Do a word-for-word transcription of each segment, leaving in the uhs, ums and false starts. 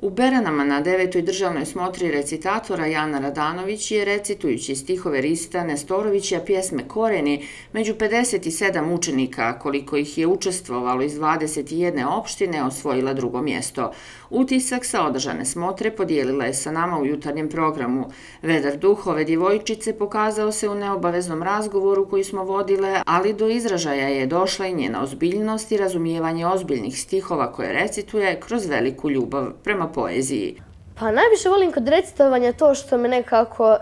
U Beranama na devetoj državnoj smotri recitatora Jana Radanović je, recitujući stihove Rista Nestorovića pjesme Koreni, među pedeset sedam učenika, koliko ih je učestvovalo iz dvadeset jedne opštine, osvojila drugo mjesto. Utisak sa održane smotre podijelila je sa nama u jutarnjem programu. Vedar duh ove djevojčice pokazao se u neobaveznom razgovoru koji smo vodile, ali do izražaja je došla i njena ozbiljnost i razumijevanje ozbiljnih stihova koje recituje kroz veliku ljubav prema poeziji. Pa najviše volim kod recitovanja to što me nekako,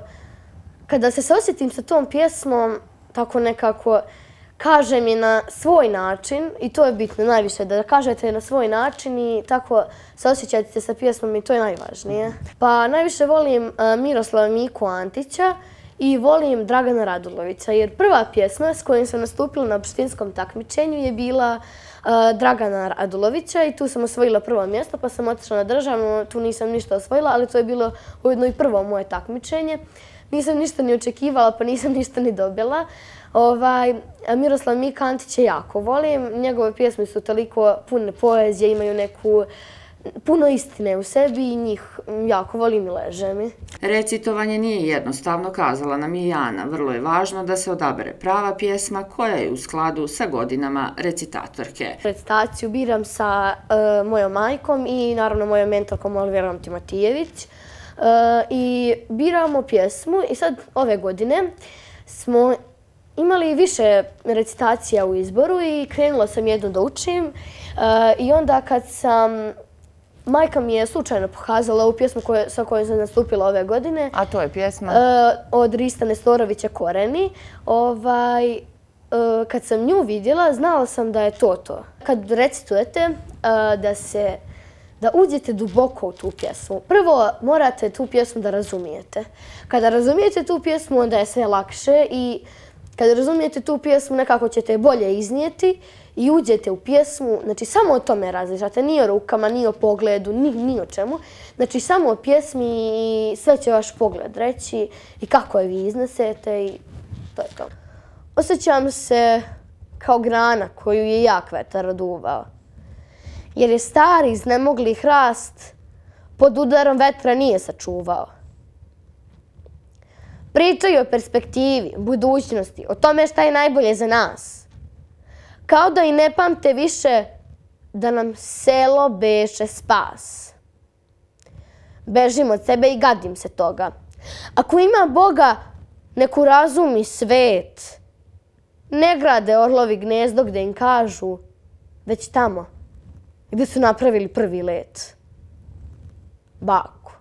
kada se osjetim sa tom pjesmom, tako nekako kažem je na svoj način i to je bitno najviše, da kažete na svoj način i tako se osjećate sa pjesmom i to je najvažnije. Pa najviše volim Miroslava Miku Antića i volim Dragana Radulovića, jer prva pjesma s kojom sam nastupila na opštinskom takmičenju je bila Dragana Radulovića i tu sam osvojila prvo mjesto, pa sam otišla na državno, tu nisam ništa osvojila, ali to je bilo ujedno i prvo moje takmičenje. Nisam ništa ni očekivala, pa nisam ništa ni dobila. Miroslav Mika Antića jako volim, njegove pjesme su toliko pune poezije, imaju neku puno istine u sebi i njih jako volim i leže mi. Recitovanje nije jednostavno, kazala nam je Jana. Vrlo je važno da se odabere prava pjesma koja je u skladu sa godinama recitatorke. Recitaciju biram sa mojom majkom i naravno mojom mentorkom Oliverom Timotijević. I biramo pjesmu i sad ove godine smo imali više recitacija u izboru i krenula sam jednu da učim i onda kad sam majka mi je slučajno pokazala ovu pjesmu sa kojom sam nastupila ove godine. A to je pjesma? Od Rista Nestorovića Koreni. Kad sam nju vidjela, znala sam da je to to. Kad recitujete, da se da uđete duboko u tu pjesmu. Prvo morate tu pjesmu da razumijete. Kada razumijete tu pjesmu, onda je sve lakše i kada razumijete tu pjesmu, nekako ćete je bolje iznijeti i uđete u pjesmu. Znači, samo o tome različate. Ni o rukama, ni o pogledu, ni o čemu. Znači, samo o pjesmi i sve će vaš pogled reći i kako je vi iznesete i to je to. Osjećam se kao grana koju je jak vetar oduvao. Jer je stari iznemogli hrast pod udarom vetra nije sačuvao. Pričaju o perspektivi, budućnosti, o tome šta je najbolje za nas. Kao da i ne pamte više da nam selo beše spas. Bežim od sebe i gadim se toga. Ako ima Boga, neku razumi svet. Ne grade orlovi gnezdo gde im kažu, već tamo gde su napravili prvi let. Baku.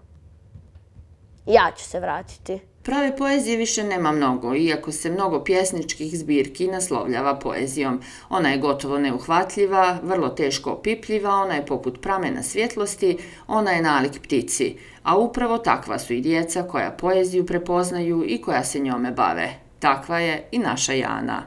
Ja ću se vratiti. Prave poezije više nema mnogo, iako se mnogo pjesničkih zbirki naslovljava poezijom. Ona je gotovo neuhvatljiva, vrlo teško opipljiva, ona je poput pramena svjetlosti, ona je nalik ptici. A upravo takva su i djeca koja poeziju prepoznaju i koja se njome bave. Takva je i naša Jana.